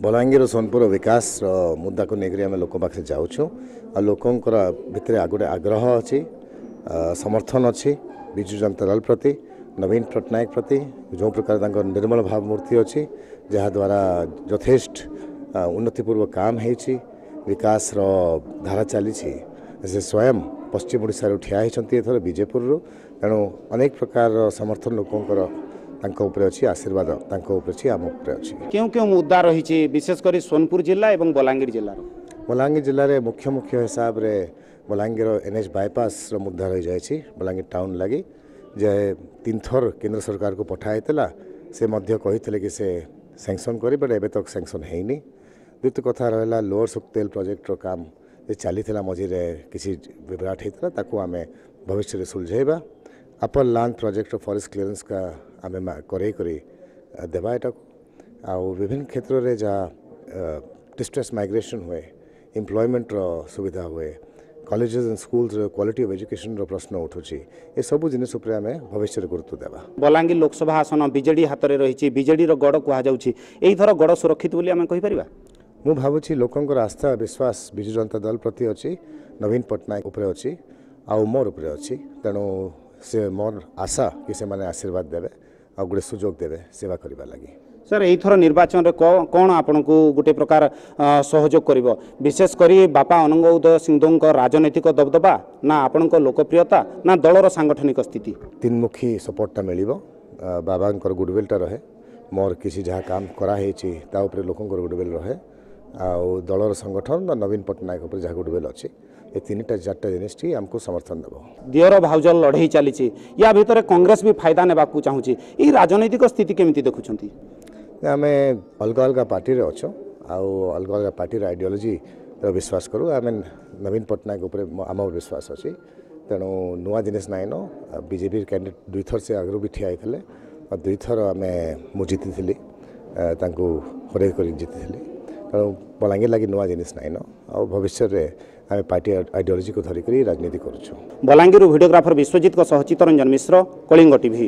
ବଲାଙ୍ଗୀର ସୋନପୁର ବିକାଶର ମୁଦ୍ଦାକୁ ନେଇକରି ଆମେ ଲୋକ ପାଖରେ ଯାଉଛୁ ଆଉ ଲୋକଙ୍କର ଭିତରେ ଗୋଟେ ଆଗ୍ରହ ଅଛି, ସମର୍ଥନ ଅଛି ବିଜୁ ଜନତା ଦଳ ପ୍ରତି, ନବୀନ ପଟ୍ଟନାୟକ ପ୍ରତି। ଯେଉଁ ପ୍ରକାର ତାଙ୍କର ନିର୍ମଳ ଭାବମୂର୍ତ୍ତି ଅଛି, ଯାହାଦ୍ୱାରା ଯଥେଷ୍ଟ ଉନ୍ନତିପୂର୍ବ କାମ ହେଇଛି, ବିକାଶର ଧାରା ଚାଲିଛି। ସେ ସ୍ୱୟଂ ପଶ୍ଚିମ ଓଡ଼ିଶାରୁ ଠିଆ ହେଇଛନ୍ତି ଏଥର ବିଜେପୁରରୁ। ତେଣୁ ଅନେକ ପ୍ରକାରର ସମର୍ଥନ ଲୋକଙ୍କର ତାଙ୍କ ଉପରେ ଅଛି, ଆଶୀର୍ବାଦ ତାଙ୍କ ଉପରେ ଅଛି, ଆମ ଉପରେ ଅଛି। କେଉଁ କେଉଁ ମୁଦ୍ଦା ରହିଛି, ବିଶେଷ କରି ସୋନପୁର ଜିଲ୍ଲା ଏବଂ ବଲାଙ୍ଗୀର ଜିଲ୍ଲାର? ବଲାଙ୍ଗୀର ଜିଲ୍ଲାରେ ମୁଖ୍ୟ ମୁଖ୍ୟ ହିସାବରେ ବଲାଙ୍ଗୀର ଏନ୍ ଏଚ୍ ବାଇପାସ୍ର ମୁଦ୍ଦା ରହିଯାଇଛି ବଲାଙ୍ଗୀର ଟାଉନ୍ ଲାଗି, ଯେ ତିନିଥର କେନ୍ଦ୍ର ସରକାରକୁ ପଠା ହେଇଥିଲା। ସେ ମଧ୍ୟ କହିଥିଲେ କି ସେ ସ୍ୟାଙ୍କସନ୍ କରିବେ, ବଟ୍ ଏବେ ତକ ସ୍ୟାଙ୍କସନ୍ ହେଇନି। ଦ୍ୱିତୀୟ କଥା ରହିଲା ଲୋଅର ସୁକ୍ତେଲ ପ୍ରୋଜେକ୍ଟର କାମ ଯେ ଚାଲିଥିଲା, ମଝିରେ କିଛି ବିଭ୍ରାଟ ହେଇଥିଲା, ତାକୁ ଆମେ ଭବିଷ୍ୟତରେ ସୁଲଝେଇବା। ଅପର ଲାନ୍ଦ ପ୍ରୋଜେକ୍ଟର ଫରେଷ୍ଟ କ୍ଲିୟରେନ୍ସ ଆମେ କରେଇ କରି ଦେବା ଏଟାକୁ। ଆଉ ବିଭିନ୍ନ କ୍ଷେତ୍ରରେ ଯାହା ଡିଷ୍ଟ୍ରେସ୍ ମାଇଗ୍ରେସନ୍ ହୁଏ, ଏମ୍ପ୍ଲୟମେଣ୍ଟର ସୁବିଧା ହୁଏ, କଲେଜେସ୍ ଆଣ୍ଡ ସ୍କୁଲ୍ସର କ୍ୱାଲିଟି ଅଫ୍ ଏଜୁକେସନ୍ର ପ୍ରଶ୍ନ ଉଠୁଛି, ଏସବୁ ଜିନିଷ ଉପରେ ଆମେ ଭବିଷ୍ୟତରେ ଗୁରୁତ୍ୱ ଦେବା। ବଲାଙ୍ଗୀର ଲୋକସଭା ଆସନ ବିଜେଡି ହାତରେ ରହିଛି, ବିଜେଡିର ଗଡ଼ କୁହାଯାଉଛି। ଏଇଥର ଗଡ଼ ସୁରକ୍ଷିତ ବୋଲି ଆମେ କହିପାରିବା? ମୁଁ ଭାବୁଛି ଲୋକଙ୍କର ଆସ୍ଥା ବିଶ୍ୱାସ ବିଜୁ ଜନତା ଦଳ ପ୍ରତି ଅଛି, ନବୀନ ପଟ୍ଟନାୟକ ଉପରେ ଅଛି ଆଉ ମୋର ଉପରେ ଅଛି। ତେଣୁ ସେ ମୋର ଆଶା କି ସେମାନେ ଆଶୀର୍ବାଦ ଦେବେ ଆଉ ଗୋଟେ ସୁଯୋଗ ଦେବେ ସେବା କରିବା ଲାଗି। ସାର୍, ଏଇଥର ନିର୍ବାଚନରେ କ'ଣ ଆପଣଙ୍କୁ ଗୋଟେ ପ୍ରକାର ସହଯୋଗ କରିବ, ବିଶେଷ କରି ବାପା ଅନଙ୍ଗ ଉଦୟ ସିଂଦେଓଙ୍କ ରାଜନୈତିକ ଦବଦବା, ନା ଆପଣଙ୍କ ଲୋକପ୍ରିୟତା, ନା ଦଳର ସାଙ୍ଗଠନିକ ସ୍ଥିତି? ତିନମୁଖୀ ସପୋର୍ଟଟା ମିଳିବ। ବାବାଙ୍କର ଗୁଡ଼ୱିଲ୍ଟା ରହେ, ମୋର କିଛି ଯାହା କାମ କରାହେଇଛି ତା ଉପରେ ଲୋକଙ୍କର ଗୁଡ଼ୱିଲ୍ ରହେ, ଆଉ ଦଳର ସଂଗଠନ ନବୀନ ପଟ୍ଟନାୟକ ଉପରେ ଯାହା ଗୁଡ଼ୱିଲ୍ ଅଛି, ଏ ତିନିଟା ଚାରିଟା ଜିନିଷଟି ଆମକୁ ସମର୍ଥନ ଦେବ। ଦିଅର ଭାଉଜ ଲଢ଼େଇ ଚାଲିଛି, ୟା ଭିତରେ କଂଗ୍ରେସ ବି ଫାଇଦା ନେବାକୁ ଚାହୁଁଛି। ଏଇ ରାଜନୈତିକ ସ୍ଥିତି କେମିତି ଦେଖୁଛନ୍ତି? ଆମେ ଅଲଗା ଅଲଗା ପାର୍ଟିରେ ଅଛୁ ଆଉ ଅଲଗା ଅଲଗା ପାର୍ଟିର ଆଇଡ଼ିଓଲୋଜିର ବିଶ୍ୱାସ କରୁ। ଆମେ ନବୀନ ପଟ୍ଟନାୟକ ଉପରେ ଆମ ବିଶ୍ୱାସ ଅଛି। ତେଣୁ ନୂଆ ଜିନିଷ ନାଇଁନ। ବିଜେପି କ୍ୟାଣ୍ଡିଡେଟ୍ ଦୁଇଥର ସେ ଆଗରୁ ବି ଠିଆ ହେଇଥିଲେ ଆଉ ଦୁଇଥର ଆମେ ମୁଁ ଜିତିଥିଲି, ତାଙ୍କୁ ହରେଇ କରି ଜିତିଥିଲି। ତେଣୁ ବଲାଙ୍ଗୀର ଲାଗି ନୂଆ ଜିନିଷ ନାଇଁନ ଆଉ ଭବିଷ୍ୟତରେ ଆମେ ପାର୍ଟି ଆଇଡ଼ିଓଲୋଜିକୁ ଧରିକରି ରାଜନୀତି କରୁଛୁ। ବଲାଙ୍ଗୀରରୁ ଭିଡ଼ିଓଗ୍ରାଫର ବିଶ୍ୱଜିତଙ୍କ ସହ ଚିତ୍ତରଞ୍ଜନ ମିଶ୍ର, କଳିଙ୍ଗ ଟିଭି।